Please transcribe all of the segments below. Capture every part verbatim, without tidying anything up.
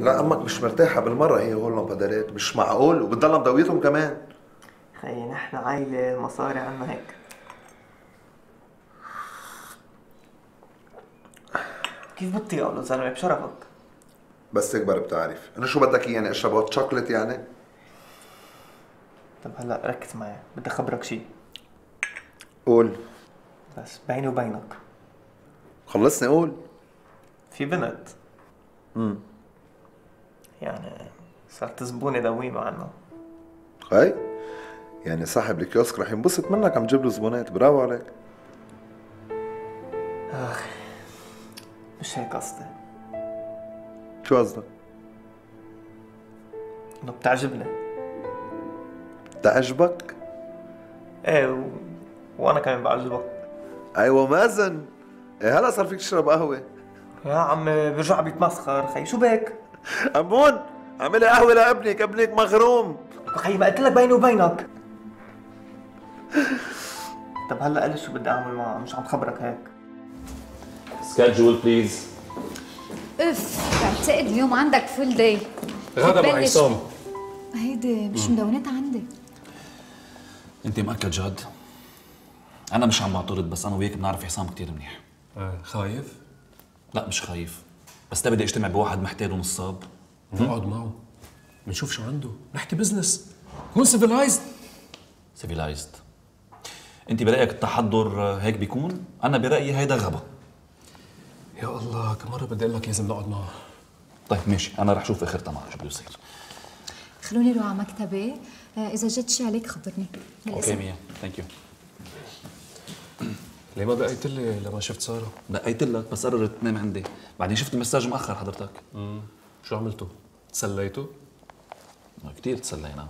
لا امك مش مرتاحه بالمره هي هول لامبادارات، مش معقول وبتضلها مضويتهم كمان. خيي نحن عائله المصاري عنا هيك. كيف بتطيق له زلمه بشرفك؟ بس تكبر بتعرف انه شو بدك يعني اشرب هوت شوكليت يعني؟ طب هلا ركز معي، بدي اخبرك شيء. قول. بس بيني وبينك. خلصني قول. في بنت. امم يعني صارت زبونة دويمة عنها. هاي يعني صاحب الكيوسك رح ينبسط منك عم تجيب له زبونات، برافو عليك. اخ مش هيك قصدي. شو قصدك؟ انه بتعجبني. بتعجبك؟ ايه و... وانا كمان بعجبك. ايوه مازن، إيه هلا صار فيك تشرب قهوه. يا عمي بيرجع بيتمسخر، خي شو بك؟ أمون اعملي قهوه لابنك، ابنك مغروم. خي ما قلت لك بيني وبينك. طب هلا قل شو بدي اعمل معه، مش عم خبرك هيك. سكادجول بليز. اف بعتقد اليوم عندك فول داي. غدا مع عصام. هيدي مش مدونتها عندي. انت مأكد جد؟ انا مش عم بعترض، بس انا وياك بنعرف عصام كثير منيح. آه خايف؟ لا مش خايف، بس بدي اجتمع بواحد محتال ونصاب. نقعد معه بنشوف شو عنده، نحكي بزنس، كون سيفيلايزد. سيفيلايزد. انت برايك التحضر هيك بيكون؟ انا برايي هيدا غبا. يا الله كم مره بدي اقول لك لازم نقعد معه. طيب ماشي، انا رح اشوف اخرتها معه شو بده يصير. خلوني روح على مكتبي، اذا جد شي عليك خبرني. اوكي ميا، ثانك يو. ليه ما دقيت لي لما شفت ساره؟ دقيت لك بس قررت تنام عندي، بعدين شفت المساج مأخر حضرتك. امم شو عملتوا؟ تسليتوا؟ كثير تسلينا،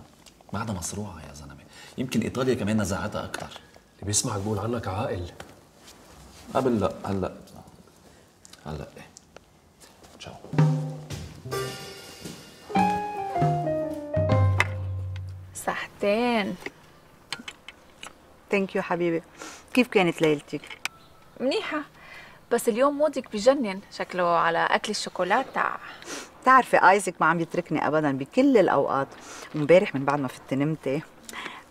بعدها مصروعه يا زلمه، يمكن ايطاليا كمان نزعتها اكثر. اللي بيسمعك بقول عنك عاقل. قبل لا، هلا هلا ايه. تشاو. صحتين. ثانك يو حبيبي. كيف كانت ليلتك؟ منيحة، بس اليوم مودك بجنن، شكله على أكل الشوكولاتة. بتعرفي ايزك ما عم يتركني ابدا بكل الاوقات، وامبارح من بعد ما فت نمتي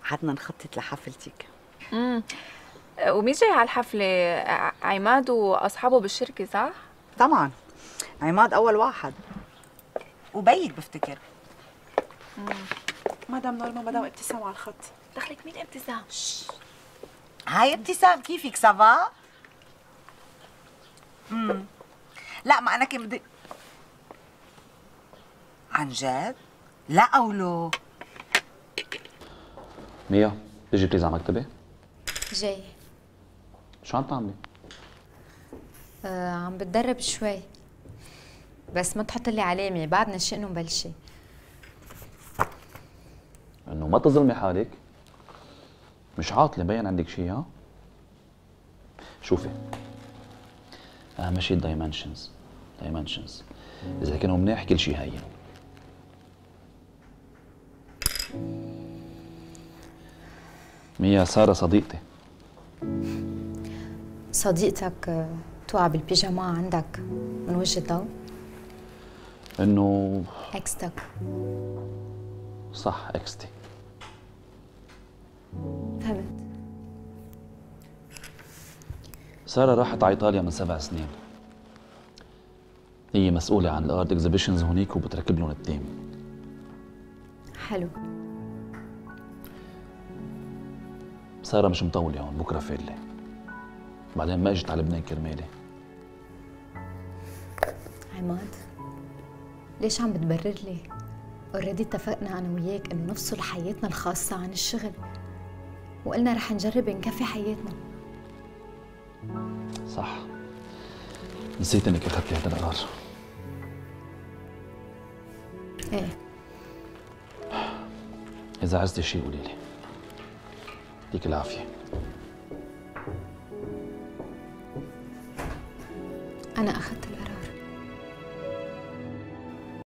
قعدنا نخطط لحفلتك. امم ومين جاي على الحفلة؟ عماد واصحابه بالشركة صح؟ طبعا عماد اول واحد وبيك بفتكر. امم مدام نورما، مدام ابتسام على الخط. دخلك مين ابتسام؟ هاي ابتسام، كيفك سافا؟ امم لا ما انا كنت بدي. عن جد؟ لا أولو. ميا تيجي بليز على مكتبي؟ جاي. شو عم تعملي؟ آه عم بتدرب شوي، بس ما تحط لي علامة، بعدنا شئنا مبلشة. انه ما تظلمي حالك، مش عاطلة مبين عندك شيء. ها؟ شوفي، أهم شيء الدايمنشنز، دايمنشنز إذا كانوا منيح كل شيء هين. ميا سارة صديقتي. صديقتك توعى بالبيجاما عندك من وجه الضوء؟ إنه اكستك. صح اكستي. فهمت. سارة راحت على إيطاليا من سبع سنين. هي مسؤولة عن الارت اكزيبيشنز هونيك وبتركب لهم التيم. حلو. سارة مش مطولة هون، بكرة فالة. بعدين ما اجت على لبنان كرمالي. عماد ليش عم بتبرر لي؟ اوريدي اتفقنا انا وياك انه نفصل حياتنا الخاصة عن الشغل، وقلنا رح نجرب نكفي حياتنا. صح، نسيت انك اخذتي هذا القرار. ايه. إذا عزتي شيء قولي لي. يعطيك العافية. أنا أخذت